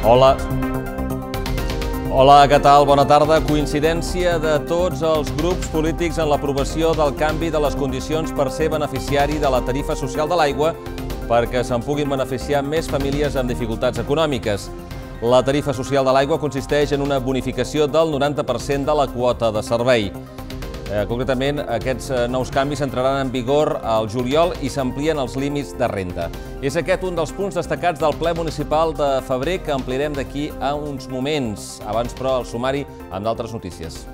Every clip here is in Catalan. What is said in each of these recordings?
Hola. Hola, què tal? Bona tarda. Coincidència de tots els grups polítics en l'aprovació del canvi de les condicions per ser beneficiari de la tarifa social de l'aigua perquè se'n puguin beneficiar més famílies amb dificultats econòmiques. La tarifa social de l'aigua consisteix en una bonificació del 90% de la quota de servei. Concretament, aquests nous canvis entraran en vigor al juliol i s'amplien els límits de renda. És aquest un dels punts destacats del ple municipal de febrer que ampliarem d'aquí a uns moments. Abans, però, el sumari amb d'altres notícies.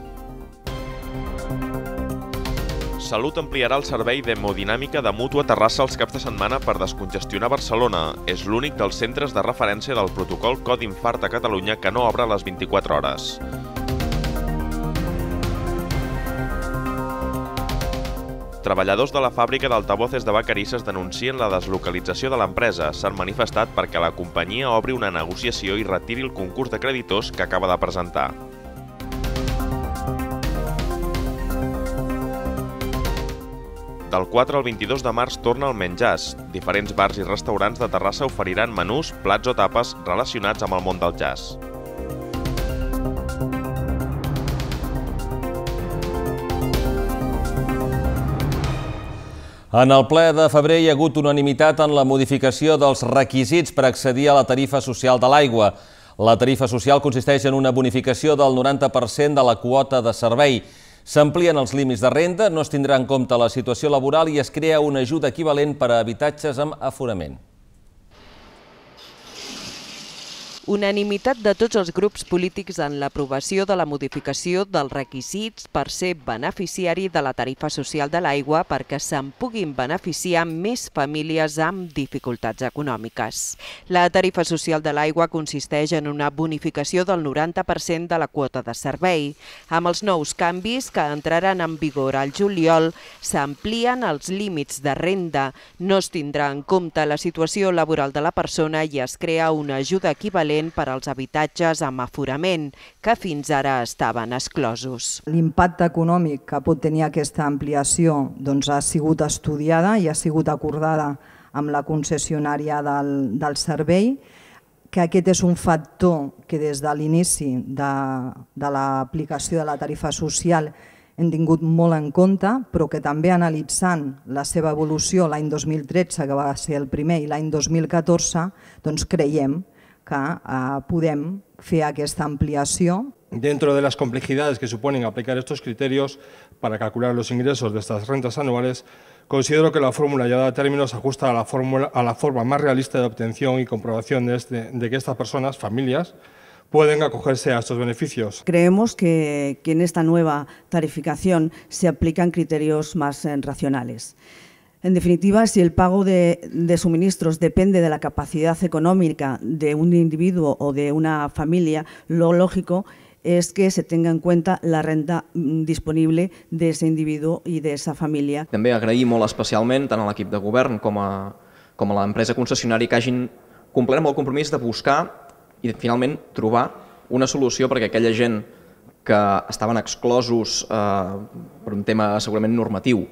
Salut ampliarà el servei d'hemodinàmica de Mútua Terrassa els caps de setmana per descongestionar Barcelona. És l'únic dels centres de referència del protocol Codi Infart a Catalunya que no obre a les 24 hores. Treballadors de la fàbrica d'altavoces de Vacarisses denuncien la deslocalització de l'empresa. S'han manifestat perquè la companyia obri una negociació i retiri el concurs de creditors que acaba de presentar. Del 4 al 22 de març torna el menjars. Diferents bars i restaurants de Terrassa oferiran menús, plats o tapes relacionats amb el món del jazz. En el ple de febrer hi ha hagut unanimitat en la modificació dels requisits per accedir a la tarifa social de l'aigua. La tarifa social consisteix en una bonificació del 90% de la quota de servei. S'amplien els límits de renda, no es tindrà en compte la situació laboral i es crea una ajuda equivalent per a habitatges amb aforament. Unanimitat de tots els grups polítics en l'aprovació de la modificació dels requisits per ser beneficiari de la tarifa social de l'aigua perquè se'n puguin beneficiar més famílies amb dificultats econòmiques. La tarifa social de l'aigua consisteix en una bonificació del 90% de la quota de servei. Amb els nous canvis que entraran en vigor al juliol, s'amplien els límits de renda, no es tindrà en compte la situació laboral de la persona i es crea una ajuda equivalent per als habitatges amb aforament, que fins ara estaven exclosos. L'impacte econòmic que pot tenir aquesta ampliació ha sigut estudiada i ha sigut acordada amb la concessionària del servei, que aquest és un factor que des de l'inici de l'aplicació de la tarifa social hem tingut molt en compte, però que també analitzant la seva evolució l'any 2013, que va ser el primer, i l'any 2014, creiem que podem fer aquesta ampliació. Dentro de las complejidades que suponen aplicar estos criterios para calcular los ingresos de estas rentas anuales, considero que la fórmula ya dada a término se ajusta a la forma más realista de obtención y comprobación de que estas personas, familias, pueden acogerse a estos beneficios. Creemos que en esta nueva tarificación se aplican criterios más racionales. En definitiva, si el pago de suministros depende de la capacidad económica de un individuo o de una familia, lo lógico es que se tenga en cuenta la renta disponible de ese individuo i de esa família. També agraïm molt especialment tant a l'equip de govern com a l'empresa concessionària que hagin complert amb el compromís de buscar i finalment trobar una solució perquè aquella gent que estaven exclosos per un tema segurament normatiu,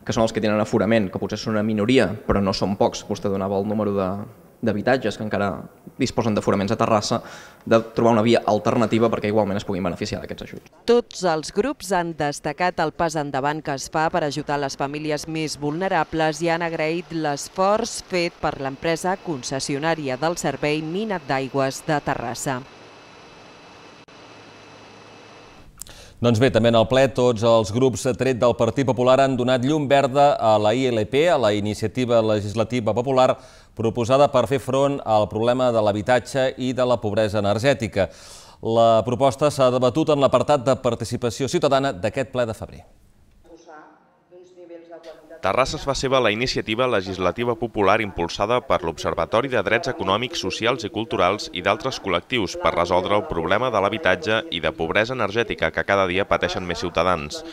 que són els que tenen aforament, que potser són una minoria, però no són pocs. Vostè donava el número d'habitatges que encara disposen d'aforaments a Terrassa, de trobar una via alternativa perquè igualment es puguin beneficiar d'aquests ajuts. Tots els grups han destacat el pas endavant que es fa per ajudar les famílies més vulnerables i han agraït l'esforç fet per l'empresa concessionària del servei Mina d'Aigües de Terrassa. Doncs bé, també en el ple tots els grups tret del Partit Popular han donat llum verda a la ILP, a la Iniciativa Legislativa Popular, proposada per fer front al problema de l'habitatge i de la pobresa energètica. La proposta s'ha debatut en l'apartat de participació ciutadana d'aquest ple de febrer. Terrassa es fa seva la iniciativa legislativa popular impulsada per l'Observatori de Drets Econòmics, Socials i Culturals i d'altres col·lectius per resoldre el problema de l'habitatge i de pobresa energètica que cada dia pateixen més ciutadans.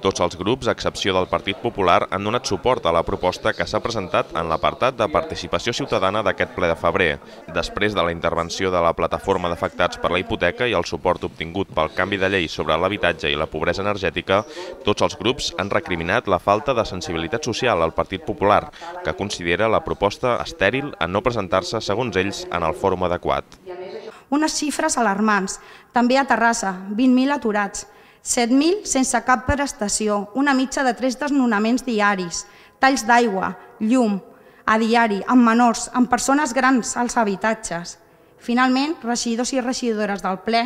Tots els grups, a excepció del Partit Popular, han donat suport a la proposta que s'ha presentat en l'apartat de participació ciutadana d'aquest ple de febrer. Després de la intervenció de la plataforma d'afectats per la hipoteca i el suport obtingut pel canvi de llei sobre l'habitatge i la pobresa energètica, tots els grups han recriminat la falta de sensibilitat social al Partit Popular, que considera la proposta estèril en no presentar-se, segons ells, en el fòrum adequat. Unes xifres alarmants. També a Terrassa, 20.000 aturats, 7.000 sense cap prestació, una mitja de 3 desnonaments diaris, talls d'aigua, llum, a diari, amb menors, amb persones grans als habitatges. Finalment, regidors i regidores del ple,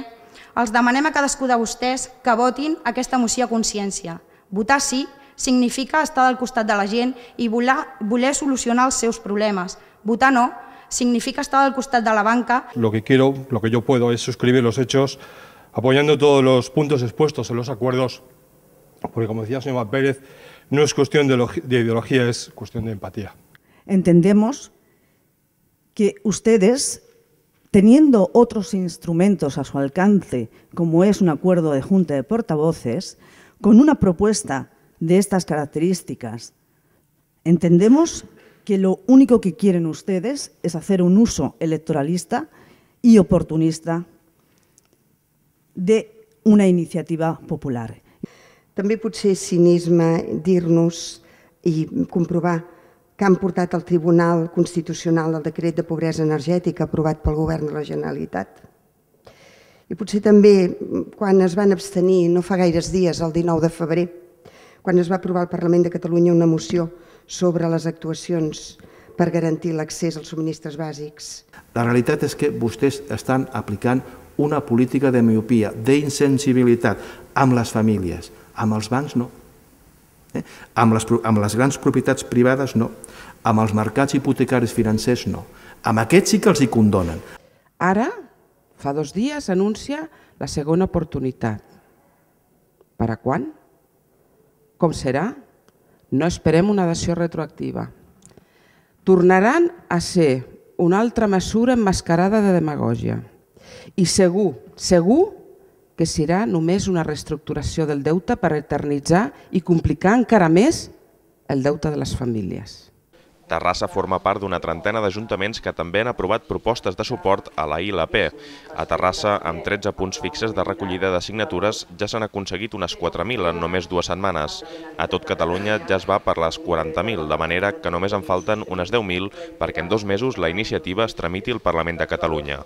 els demanem a cadascú de vostès que votin aquesta moció a consciència. Votar sí significa estar al costat de la gent i voler solucionar els seus problemes. Votar no significa estar al costat de la banca. Lo que yo puedo es suscribir los hechos apoyando todos los puntos expuestos en los acuerdos, porque como decía el señor Pérez, no es cuestión de ideología, es cuestión de empatía. Entendemos que ustedes, teniendo otros instrumentos a su alcance, como es un acuerdo de junta de portavoces, con una propuesta de estas características, entendemos que lo único que quieren ustedes es hacer un uso electoralista y oportunista de una iniciativa popular. També pot ser cinisme dir-nos i comprovar que han portat al Tribunal Constitucional el decret de pobresa energètica aprovat pel Govern de la Generalitat. I potser també quan es van abstenir, no fa gaires dies, el 19 de febrer, quan es va aprovar al Parlament de Catalunya una moció sobre les actuacions per garantir l'accés als subministres bàsics. La realitat és que vostès estan aplicant una política de miopia, d'insensibilitat amb les famílies, amb els bancs no, amb les grans propietats privades no, amb els mercats hipotecaris financers no, amb aquests sí que els hi condonen. Ara, fa 2 dies, anuncia la segona oportunitat. Per a quan? Com serà? No esperem una dació retroactiva. Tornaran a ser una altra mesura emmascarada de demagògia. I segur que serà només una reestructuració del deute per eternitzar i complicar encara més el deute de les famílies. Terrassa forma part d'una trentena d'ajuntaments que també han aprovat propostes de suport a la ILP. A Terrassa, amb 13 punts fixes de recollida de signatures, ja s'han aconseguit unes 4.000 en només 2 setmanes. A tot Catalunya ja es va per les 40.000, de manera que només en falten unes 10.000 perquè en 2 mesos la iniciativa es tramiti al Parlament de Catalunya.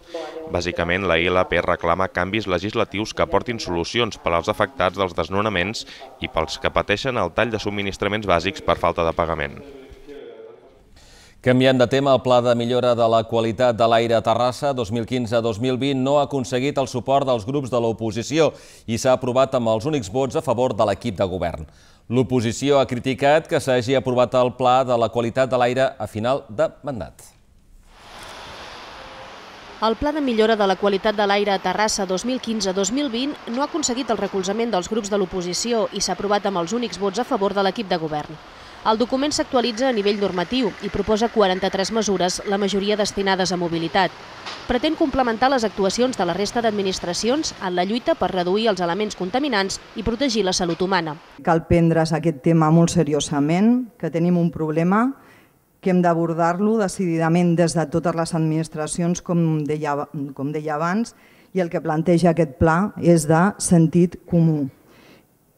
Bàsicament, la ILP reclama canvis legislatius que aportin solucions per als afectats dels desnonaments i pels que pateixen el tall de subministraments bàsics per falta de pagament. Canviant de tema, el Pla de millora de la qualitat de l'aire a Terrassa 2015-2020 no ha aconseguit el suport dels grups de l'oposició i s'ha aprovat amb els únics vots a favor de l'equip de govern. L'oposició ha criticat que s'hagi aprovat el Pla de la qualitat de l'aire a final de mandat. El Pla de millora de la qualitat de l'aire a Terrassa 2015-2020 no ha aconseguit el recolzament dels grups de l'oposició i s'ha aprovat amb els únics vots a favor de l'equip de govern. El document s'actualitza a nivell normatiu i proposa 43 mesures, la majoria destinades a mobilitat. Pretén complementar les actuacions de la resta d'administracions en la lluita per reduir els elements contaminants i protegir la salut humana. Cal prendre's aquest tema molt seriosament, que tenim un problema, que hem d'abordar-lo decididament des de totes les administracions, com deia abans, i el que planteja aquest pla és de sentit comú.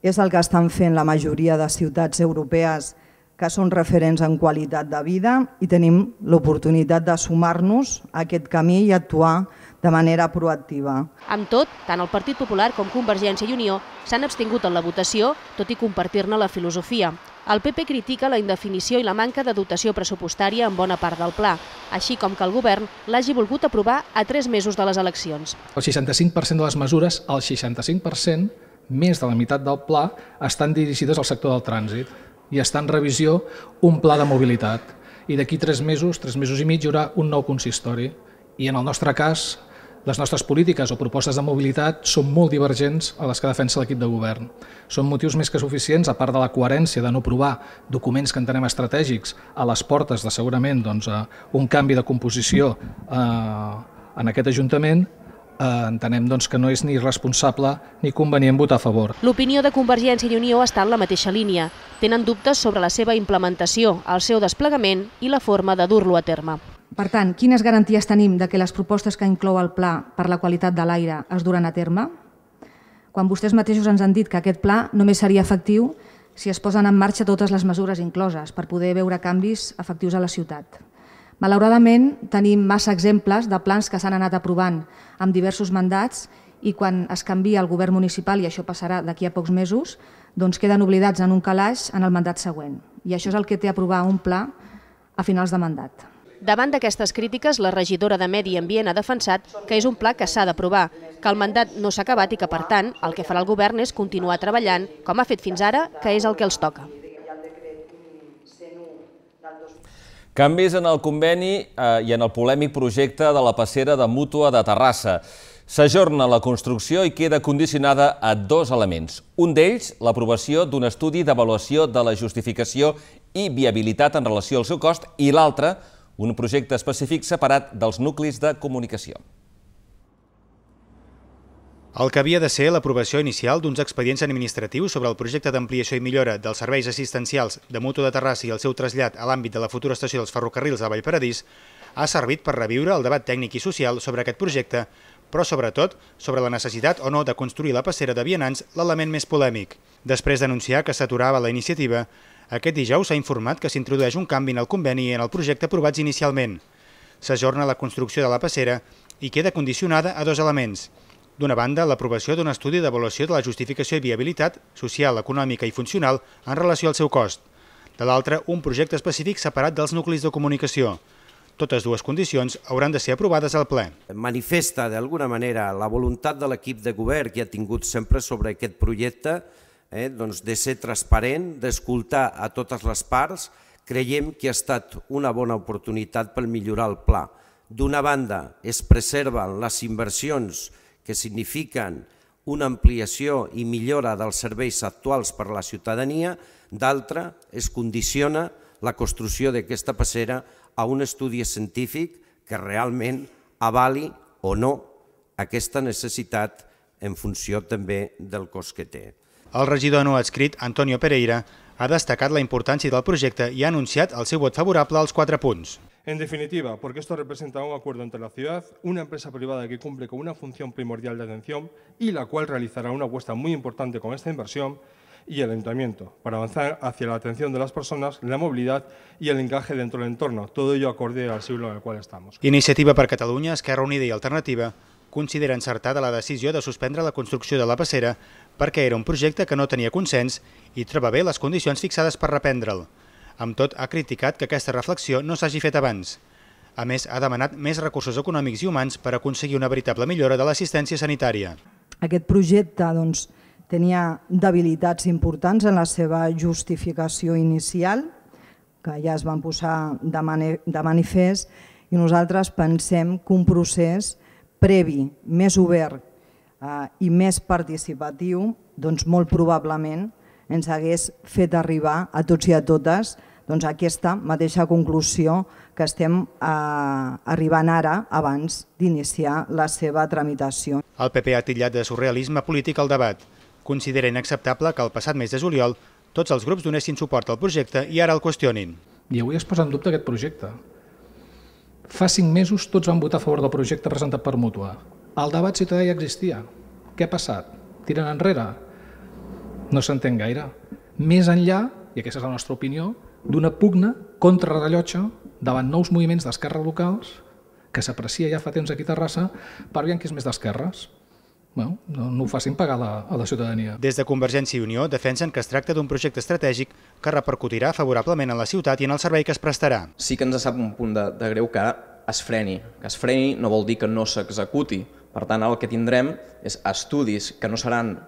És el que estan fent la majoria de ciutats europees que són referents en qualitat de vida i tenim l'oportunitat de sumar-nos a aquest camí i actuar de manera proactiva. Amb tot, tant el Partit Popular com Convergència i Unió s'han abstingut en la votació, tot i compartir-ne la filosofia. El PP critica la indefinició i la manca de dotació pressupostària en bona part del pla, així com que el govern l'hagi volgut aprovar a 3 mesos de les eleccions. El 65% de les mesures, el 65%, més de la meitat del pla, estan dirigides al sector del trànsit i està en revisió un pla de mobilitat. I d'aquí 3 mesos i mig, hi haurà un nou consistori. I en el nostre cas, les nostres polítiques o propostes de mobilitat són molt divergents a les que defensa l'equip de govern. Són motius més que suficients, a part de la coherència de no aprovar documents que entenem estratègics a les portes de segurament un canvi de composició en aquest Ajuntament, entenem que no és ni responsable ni convenient votar a favor. L'opinió de Convergència i Unió està en la mateixa línia. Tenen dubtes sobre la seva implementació, el seu desplegament i la forma de dur-lo a terme. Per tant, quines garanties tenim de que les propostes que inclou el pla per la qualitat de l'aire es duran a terme? Quan vostès mateixos ens han dit que aquest pla només seria efectiu si es posen en marxa totes les mesures incloses per poder veure canvis efectius a la ciutat. Malauradament, tenim massa exemples de plans que s'han anat aprovant amb diversos mandats i quan es canvia el govern municipal, i això passarà d'aquí a pocs mesos, doncs queden oblidats en un calaix en el mandat següent. I això és el que té aprovar un pla a finals de mandat. Davant d'aquestes crítiques, la regidora de Medi Ambient ha defensat que és un pla que s'ha d'aprovar, que el mandat no s'ha acabat i que, per tant, el que farà el govern és continuar treballant, com ha fet fins ara, que és el que els toca. Canvis en el conveni i en el polèmic projecte de la passera de Mútua de Terrassa. S'ajorna la construcció i queda condicionada a dos elements. Un d'ells, l'aprovació d'un estudi d'avaluació de la justificació i viabilitat en relació al seu cost, i l'altre, un projecte específic separat dels nuclis de comunicació. El que havia de ser l'aprovació inicial d'uns expedients administratius sobre el projecte d'ampliació i millora dels serveis assistencials de Mútua de Terrassa i el seu trasllat a l'àmbit de la futura estació dels ferrocarrils de Vallparadís ha servit per reviure el debat tècnic i social sobre aquest projecte, però sobretot sobre la necessitat o no de construir la passera de vianants, l'element més polèmic. Després d'anunciar que s'aturava la iniciativa, aquest dijous s'ha informat que s'introdueix un canvi en el conveni i en el projecte aprovats inicialment. S'ajorna la construcció de la passera i queda condicionada a dos elements. D'una banda, l'aprovació d'un estudi d'avaluació de la justificació i viabilitat social, econòmica i funcional en relació al seu cost. De l'altra, un projecte específic separat dels nuclis de comunicació. Totes dues condicions hauran de ser aprovades al ple. Manifesta d'alguna manera la voluntat de l'equip de govern que ha tingut sempre sobre aquest projecte de ser transparent, d'escoltar a totes les parts. Creiem que ha estat una bona oportunitat per millorar el pla. D'una banda, es preserven les inversions que signifiquen una ampliació i millora dels serveis actuals per a la ciutadania, d'altra, es condiciona la construcció d'aquesta passera a un estudi científic que realment avali o no aquesta necessitat en funció també del cost que té. El regidor no adscrit, Antonio Pereira, ha destacat la importància del projecte i ha anunciat el seu vot favorable als 4 punts. En definitiva, porque esto representa un acuerdo entre la ciudad, una empresa privada que cumple con una función primordial de atención y la cual realizará una apuesta muy importante con esta inversión, y el Ayuntamiento, para avanzar hacia la atención de las personas, la movilidad y el encaje dentro del entorno, todo ello acorde al siglo en el cual estamos. Iniciativa per Catalunya, Esquerra Unida i Alternativa considera encertada la decisió de suspendre la construcció de la passera perquè era un projecte que no tenia consens i troba bé les condicions fixades per reprendre'l. Amb tot, ha criticat que aquesta reflexió no s'hagi fet abans. A més, ha demanat més recursos econòmics i humans per aconseguir una veritable millora de l'assistència sanitària. Aquest projecte tenia debilitats importants en la seva justificació inicial, que ja es van posar de manifest, i nosaltres pensem que un procés previ, més obert i més participatiu, doncs molt probablement ens hagués fet arribar a tots i a totes aquesta mateixa conclusió que estem arribant ara abans d'iniciar la seva tramitació. El PP ha titllat de surrealisme polític el debat. Considera inacceptable que el passat mes de juliol tots els grups donessin suport al projecte i ara el qüestionin. I avui es posa en dubte aquest projecte. Fa 5 mesos tots van votar a favor del projecte presentat per Mútua. El debat ciutadà ja existia. Què ha passat? Tiren enrere? No s'entén gaire. Més enllà, i aquesta és la nostra opinió, d'una pugna contrarrellotge davant nous moviments d'esquerres locals que s'aprecia ja fa temps aquí a Terrassa per veure qui és més d'esquerres. No ho facin pagar a la ciutadania. Des de Convergència i Unió defensen que es tracta d'un projecte estratègic que repercutirà favorablement en la ciutat i en el servei que es prestarà. Sí que ens sap un punt de greu que es freni. Que es freni no vol dir que no s'executi. Per tant, el que tindrem és estudis que no seran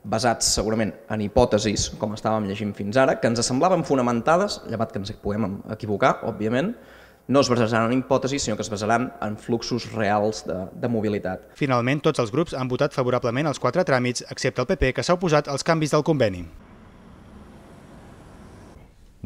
basats segurament en hipòtesis, com estàvem llegint fins ara, que ens semblaven fonamentades, llevat que ens puguem equivocar, òbviament, no es basaran en hipòtesis, sinó que es basaran en fluxos reals de mobilitat. Finalment, tots els grups han votat favorablement els 4 tràmits, excepte el PP, que s'ha oposat als canvis del conveni.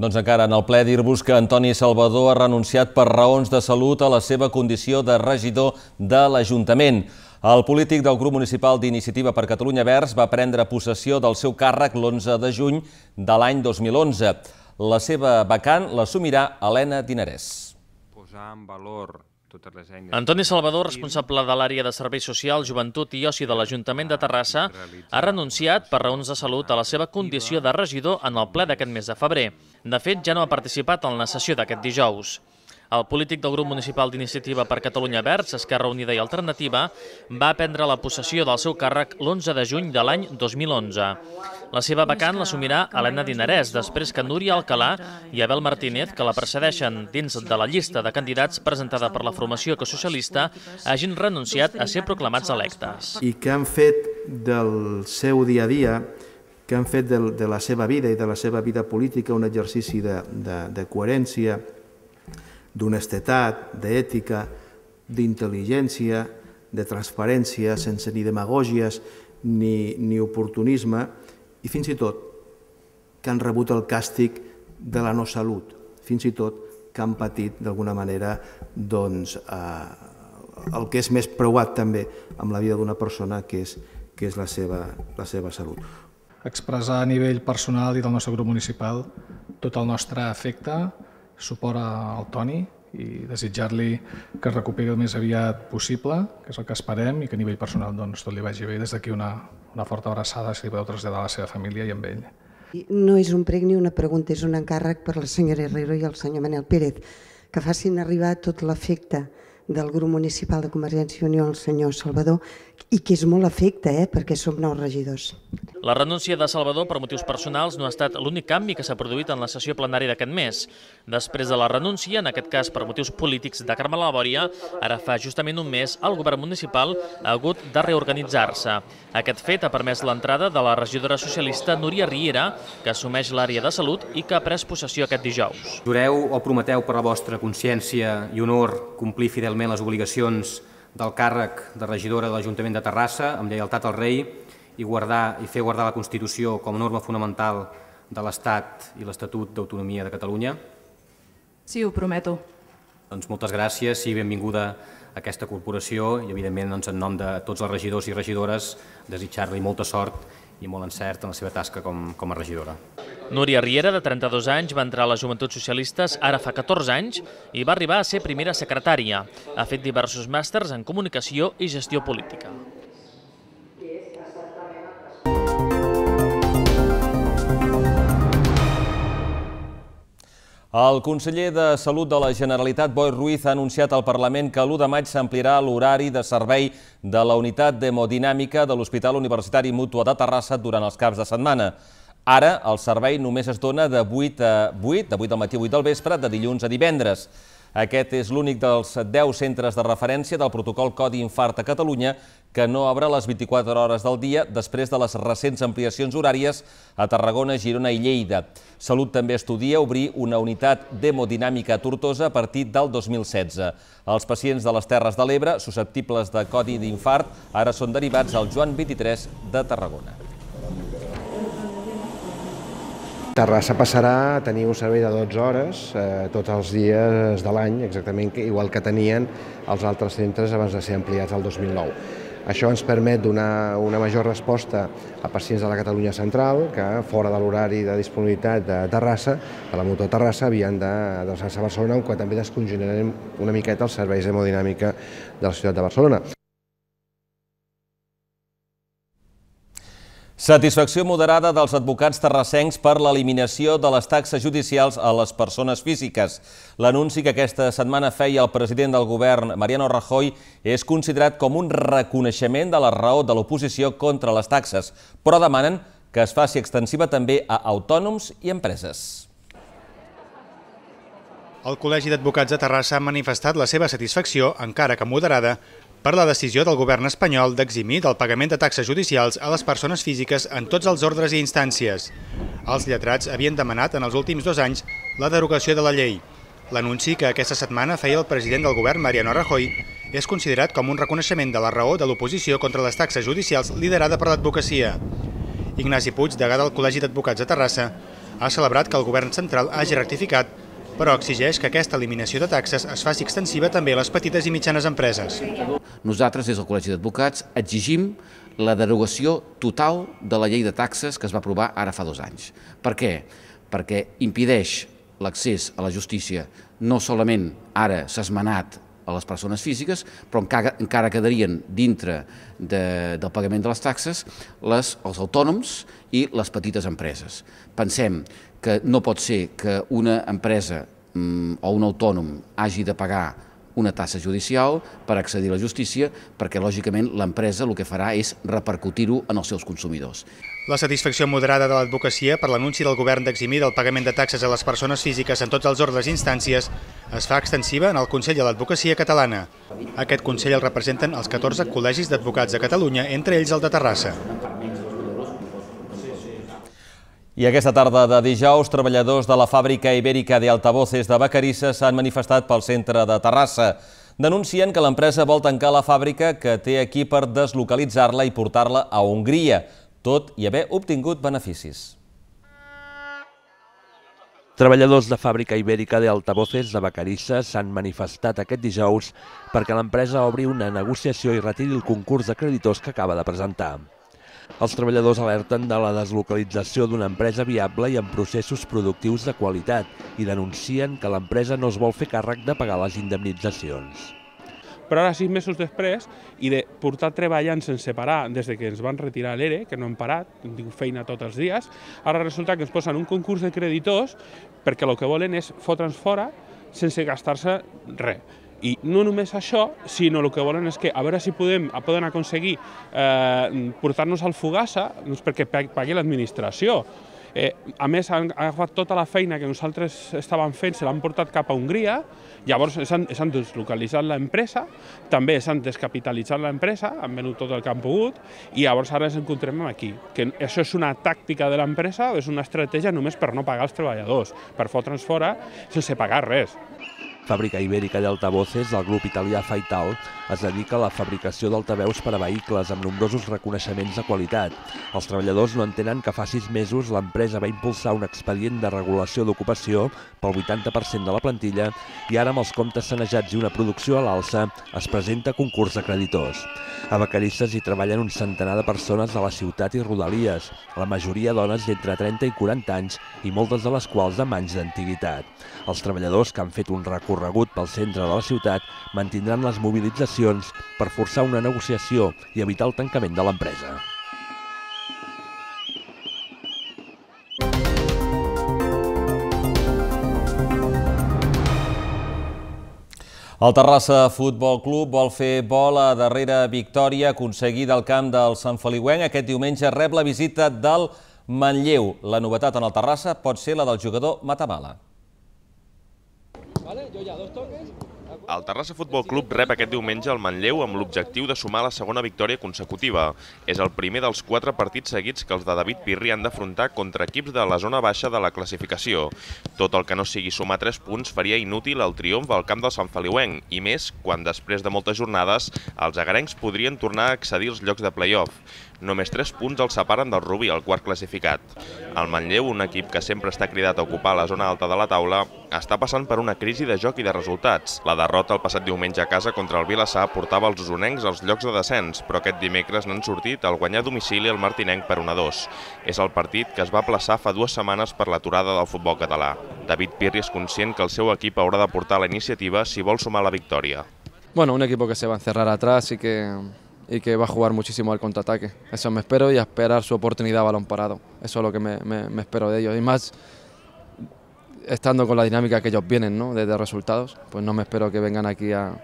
Doncs encara en el ple dir-vos que Antoni Salvador ha renunciat per raons de salut a la seva condició de regidor de l'Ajuntament. El polític del grup municipal d'Iniciativa per Catalunya Verds va prendre possessió del seu càrrec l'11 de juny de l'any 2011. La seva vacant l'assumirà Helena Dinarès. Antoni Salvador, responsable de l'àrea de Serveis Socials, Joventut i Oci de l'Ajuntament de Terrassa, ha renunciat per raons de salut a la seva condició de regidor en el ple d'aquest mes de febrer. De fet, ja no ha participat en la sessió d'aquest dijous. El polític del grup municipal d'Iniciativa per Catalunya Verds, Esquerra Unida i Alternativa, va prendre la possessió del seu càrrec l'11 de juny de l'any 2011. La seva vacant l'assumirà Helena Dinarès, després que Núria Alcalà i Abel Martínez, que la precedeixen dins de la llista de candidats presentada per la formació ecosocialista, hagin renunciat a ser proclamats electes. I que han fet del seu dia a dia, que han fet de la seva vida i de la seva vida política un exercici de coherència, d'honestedat, d'ètica, d'intel·ligència, de transparència, sense ni demagògies ni oportunisme, i fins i tot que han rebut el càstig de la no salut, fins i tot que han patit d'alguna manera el que és més preuat també amb la vida d'una persona, que és la seva salut. Expressar a nivell personal i del nostre grup municipal tot el nostre afecte, suport al Toni i desitjar-li que es recuperi el més aviat possible, que és el que esperem, i que a nivell personal tot li vagi bé. Des d'aquí una forta abraçada, si li podeu traslladar a la seva família i amb ell. No és un prec ni una pregunta, és un encàrrec per la senyora Herrero i el senyor Manel Pérez, que facin arribar tot l'afecte del grup municipal de Convergència i Unió al senyor Salvador, i que és molt afecte, perquè som 9 regidors. La renúncia de Salvador per motius personals no ha estat l'únic canvi que s'ha produït en la sessió plenària d'aquest mes. Després de la renúncia, en aquest cas per motius polítics de Carme Labòria, ara fa justament un mes el govern municipal ha hagut de reorganitzar-se. Aquest fet ha permès l'entrada de la regidora socialista Núria Riera, que assumeix l'àrea de salut i que ha pres possessió aquest dijous. Jureu o prometeu per la vostra consciència i honor complir fidelment les obligacions del càrrec de regidora de l'Ajuntament de Terrassa amb lleialtat al rei i fer guardar la Constitució com a norma fonamental de l'Estat i l'Estatut d'Autonomia de Catalunya? Sí, ho prometo. Doncs moltes gràcies i benvinguda a aquesta corporació i, evidentment, en nom de tots els regidors i regidores, desitjar-li molta sort i molt encert en la seva tasca com a regidora. Núria Riera, de 32 anys, va entrar a les Joventuts Socialistes ara fa 14 anys i va arribar a ser primera secretària. Ha fet diversos màsters en comunicació i gestió política. El conseller de Salut de la Generalitat, Boi Ruiz, ha anunciat al Parlament que l'1 de maig s'ampliarà l'horari de servei de la unitat d'hemodinàmica de l'Hospital Universitari Mútua de Terrassa durant els caps de setmana. Ara, el servei només es dona de 8 del matí a 8 del vespre, de dilluns a divendres. Aquest és l'únic dels 10 centres de referència del protocol Codi Infart a Catalunya que no obre les 24 hores del dia després de les recents ampliacions horàries a Tarragona, Girona i Lleida. Salut també estudia obrir una unitat d'hemodinàmica a Tortosa a partir del 2016. Els pacients de les Terres de l'Ebre, susceptibles de codi d'infart, ara són derivats al Joan 23 de Tarragona. Terrassa passarà a tenir un servei de 12 hores tots els dies de l'any, exactament igual que tenien els altres centres abans de ser ampliats el 2009. Això ens permet donar una major resposta a pacients de la Catalunya central que, fora de l'horari de disponibilitat de Terrassa, de la Mútua de Terrassa, havien d'adreçar-se a Barcelona, on també descongestionarem una miqueta els serveis d'hemodinàmica de la ciutat de Barcelona. Satisfacció moderada dels advocats terrassencs per l'eliminació de les taxes judicials a les persones físiques. L'anunci que aquesta setmana feia el president del govern, Mariano Rajoy, és considerat com un reconeixement de la raó de l'oposició contra les taxes, però demanen que es faci extensiva també a autònoms i empreses. El Col·legi d'Advocats de Terrassa ha manifestat la seva satisfacció, encara que moderada, per la decisió del govern espanyol d'eximir del pagament de taxes judicials a les persones físiques en tots els ordres i instàncies. Els lletrats havien demanat en els últims 2 anys la derogació de la llei. L'anunci que aquesta setmana feia el president del govern, Mariano Rajoy, és considerat com un reconeixement de la raó de l'oposició contra les taxes judicials liderada per l'advocacia. Ignasi Puig, degà del Col·legi d'Advocats de Terrassa, ha celebrat que el govern central hagi rectificat, però exigeix que aquesta eliminació de taxes es faci extensiva també a les petites i mitjanes empreses. Nosaltres, des del Col·legi d'Advocats, exigim la derogació total de la llei de taxes que es va aprovar ara fa 2 anys. Per què? Perquè impedeix l'accés a la justícia, no solament ara s'ha esmenat a les persones físiques, però encara quedarien dintre del pagament de les taxes els autònoms i les petites empreses. Pensem que no pot ser que una empresa o un autònom hagi de pagar una tassa judicial per accedir a la justícia, perquè lògicament l'empresa el que farà és repercutir-ho en els seus consumidors. La satisfacció moderada de l'advocacia per l'anunci del govern d'eximir del pagament de taxes a les persones físiques en tots els ordres i instàncies es fa extensiva en el Consell de l'Advocacia Catalana. Aquest Consell el representen els 14 col·legis d'advocats de Catalunya, entre ells el de Terrassa. I aquesta tarda de dijous, treballadors de la fàbrica ibèrica de Altavoces de Vacarisses s'han manifestat pel centre de Terrassa. Denuncien que l'empresa vol tancar la fàbrica que té aquí per deslocalitzar-la i portar-la a Hongria, tot i haver obtingut beneficis. Treballadors de fàbrica ibèrica de Altavoces de Vacarisses s'han manifestat aquest dijous perquè l'empresa obri una negociació i retiri el concurs de creditors que acaba de presentar. Els treballadors alerten de la deslocalització d'una empresa viable i amb processos productius de qualitat i denuncien que l'empresa no es vol fer càrrec de pagar les indemnitzacions. Però ara, 6 mesos després, i de portar treballant sense parar des que ens van retirar l'ERE, que no hem parat, hem tingut feina tots els dies, ara resulta que ens posen un concurs de creditors perquè el que volen és fotre'ns fora sense gastar-se res. I no només això, sinó el que volen és que a veure si poden aconseguir portar-nos al Fogassa perquè pagui l'administració. A més, han agafat tota la feina que nosaltres estàvem fent, se l'han portat cap a Hongria, llavors s'han deslocalitzat l'empresa, també s'han descapitalitzat l'empresa, han venut tot el que han pogut, i llavors ara ens encontrem aquí. Que això és una tàctica de l'empresa, és una estratègia només per no pagar els treballadors, per fotre'ns fora sense pagar res. Fàbrica ibèrica d'Altavoces, del grup italià Faital, es dedica a la fabricació d'altaveus per a vehicles amb nombrosos reconeixements de qualitat. Els treballadors no entenen que fa 6 mesos l'empresa va impulsar un expedient de regulació d'ocupació pel 80% de la plantilla i ara amb els comptes sanejats i una producció a l'alça es presenta concurs de creditors. A Vacarisses hi treballen un centenar de persones de la ciutat i rodalies, la majoria dones d'entre 30 i 40 anys i moltes de les quals amb anys d'antiguitat. Els treballadors que han fet un recorregut pel centre de la ciutat mantindran les mobilitzacions per forçar una negociació i evitar el tancament de l'empresa. El Terrassa Futbol Club vol fer bo la darrera victòria aconseguida al camp del Sant Feliuenc. Aquest diumenge rep la visita del Manlleu. La novetat en el Terrassa pot ser la del jugador Matamala. El Terrassa Futbol Club rep aquest diumenge el Manlleu amb l'objectiu de sumar la segona victòria consecutiva. És el primer dels 4 partits seguits que els de David Pirri han d'afrontar contra equips de la zona baixa de la classificació. Tot el que no sigui sumar 3 punts faria inútil el triomf al camp del Sant Feliuenc, i més quan després de moltes jornades els agarencs podrien tornar a accedir als llocs de play-off. Només 3 punts els separen del Rubí, el quart classificat. El Manlleu, un equip que sempre està cridat a ocupar la zona alta de la taula, està passant per una crisi de joc i de resultats. La derrota el passat diumenge a casa contra el Vilassar portava els osonencs als llocs de descens, però aquest dimecres n'han sortit al guanyar a domicili el martinenc per 1-2. És el partit que es va aplaçar fa 2 setmanes per l'aturada del futbol català. David Pirri és conscient que el seu equip haurà de portar la iniciativa si vol sumar la victòria. Bueno, un equipo que se va a encerrar atrás y que va a jugar muchísimo al contraataque. Eso me espero y a esperar su oportunidad a balón parado. Eso es lo que me espero de ellos. Y más estando con la dinámica que ellos vienen, ¿no? Desde resultados, pues no me espero que vengan aquí a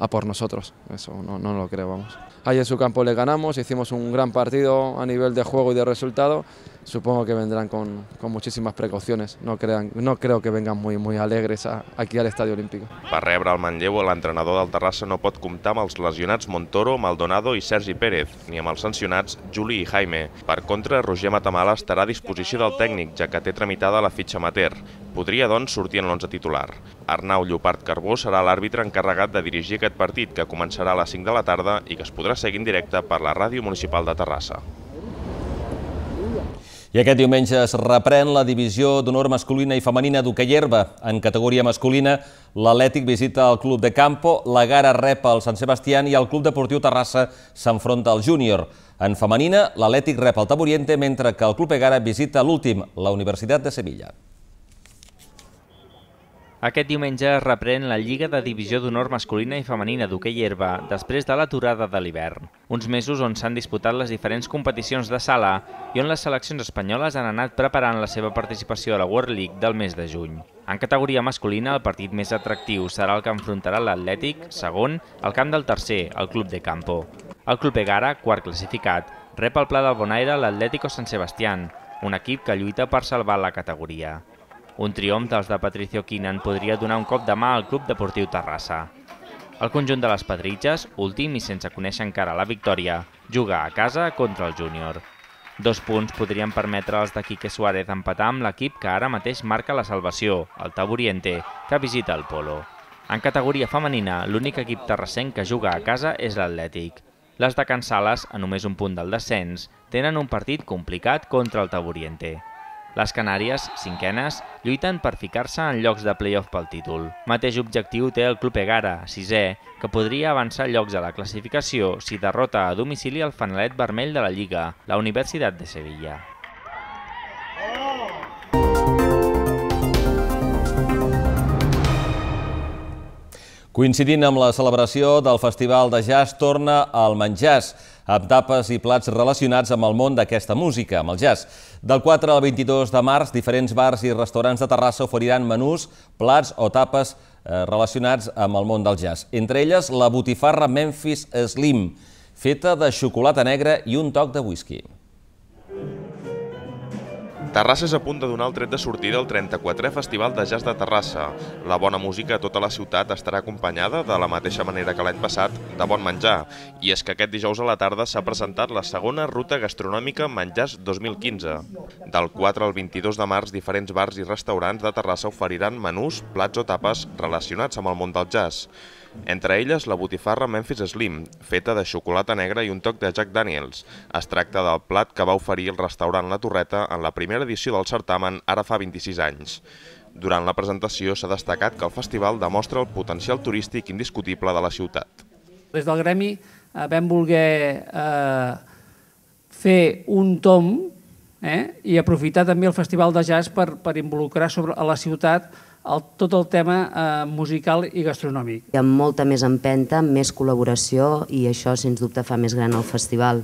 por nosotros. Eso no lo creo, vamos. Ahí en su campo le ganamos, hicimos un gran partido a nivel de juego y de resultado. Supongo que vendrán con muchísimas precauciones. No creo que vengan muy alegres aquí al Estadio Olímpico. Per rebre el Manlleu, l'entrenador del Terrassa no pot comptar amb els lesionats Montoro, Maldonado i Sergi Pérez, ni amb els sancionats Juli i Jaime. Per contra, Roger Matamala estarà a disposició del tècnic, ja que té tramitada la fitxa amateur. Podria, doncs, sortir en l'11 titular. Arnau Llopart Carbó serà l'àrbitre encarregat de dirigir aquest partit, que començarà a les 5 de la tarda i que es podrà seguir en directe per la Ràdio Municipal de Terrassa. I aquest diumenge es reprèn la divisió d'honor masculina i femenina d'hoquei herba. En categoria masculina, l'Atlètic visita el Club de Campo, la Gara rep el Sant Sebastián i el Club Deportiu Terrassa s'enfronta al Júnior. En femenina, l'Atlètic rep el Taburiente, mentre que el Club Egara visita l'últim, la Universitat de Sevilla. Aquest diumenge es reprèn la Lliga de Divisió d'Honor masculina i femenina d'hoquei herba després de l'aturada de l'hivern. Uns mesos on s'han disputat les diferents competicions de sala i on les seleccions espanyoles han anat preparant la seva participació a la World League del mes de juny. En categoria masculina, el partit més atractiu serà el que enfrontarà l'Atlètic, segon, al camp del tercer, el Club de Campo. El Club Egara, quart classificat, rep al Pla del Bonaire l'Atlético San Sebastián, un equip que lluita per salvar la categoria. Un triomf dels de Patricio Quinan podria donar un cop de mà al Club Deportiu Terrassa. El conjunt de les Pedritges, últim i sense conèixer encara la victòria, juga a casa contra el Júnior. 2 punts podrien permetre als de Quique Suárez empatar amb l'equip que ara mateix marca la salvació, el Taburiente, que visita el Polo. En categoria femenina, l'únic equip terrassenc que juga a casa és l'Atlètic. Les de Can Sales, a només un punt del descens, tenen un partit complicat contra el Taburiente. Les Canàries, cinquenes, lluiten per ficar-se en llocs de play-off pel títol. Mateix objectiu té el Club Egara, sisè, que podria avançar llocs a la classificació si derrota a domicili el fanalet vermell de la Lliga, la Universitat de Sevilla. Coincidint amb la celebració del Festival de Jazz, torna al Menjars, amb tapes i plats relacionats amb el món d'aquesta música, amb el jazz. Del 4 al 22 de març, diferents bars i restaurants de Terrassa oferiran menús, plats o tapes relacionats amb el món del jazz. Entre elles, la botifarra Memphis Slim, feta de xocolata negra i un toc de whisky. Terrassa és a punt de donar el tret de sortida al 34è Festival de Jazz de Terrassa. La bona música a tota la ciutat estarà acompanyada, de la mateixa manera que l'any passat, de bon menjar. I és que aquest dijous a la tarda s'ha presentat la segona ruta gastronòmica Menjars 2015. Del 4 al 22 de març, diferents bars i restaurants de Terrassa oferiran menús, plats o tapes relacionats amb el món del jazz. Entre elles, la botifarra Memphis Slim, feta de xocolata negra i un toc de Jack Daniels. Es tracta del plat que va oferir el restaurant La Torreta en la primera edició del certamen ara fa 26 anys. Durant la presentació s'ha destacat que el festival demostra el potencial turístic indiscutible de la ciutat. Des del gremi vam voler fer un tomb i aprofitar també el Festival de Jazz per involucrar a la ciutat tot el tema musical i gastronòmic. Hi ha molta més empenta, més col·laboració i això, sens dubte, fa més gran el festival.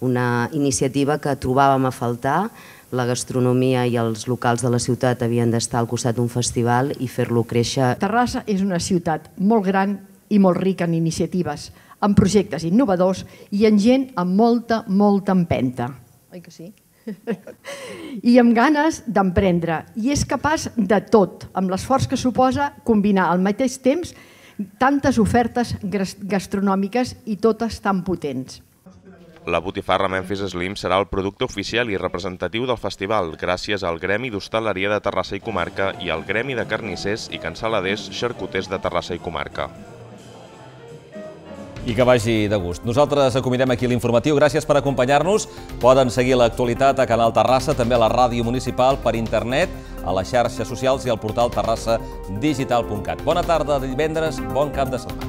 Una iniciativa que trobàvem a faltar, la gastronomia i els locals de la ciutat havien d'estar al costat d'un festival i fer-lo créixer. Terrassa és una ciutat molt gran i molt rica en iniciatives, en projectes innovadors i en gent amb molta empenta. Oi que sí? I amb ganes d'emprendre, i és capaç de tot, amb l'esforç que suposa combinar al mateix temps tantes ofertes gastronòmiques i totes tan potents. La botifarra Memphis Slim serà el producte oficial i representatiu del festival, gràcies al Gremi d'Hostaleria de Terrassa i Comarca i al Gremi de Carnissers i Cansaladers Xarcuters de Terrassa i Comarca. I que vagi de gust. Nosaltres acomiadem aquí l'informatiu. Gràcies per acompanyar-nos. Poden seguir l'actualitat a Canal Terrassa, també a la ràdio municipal, per internet, a les xarxes socials i al portal terrassadigital.cat. Bona tarda de divendres, bon cap de setmana.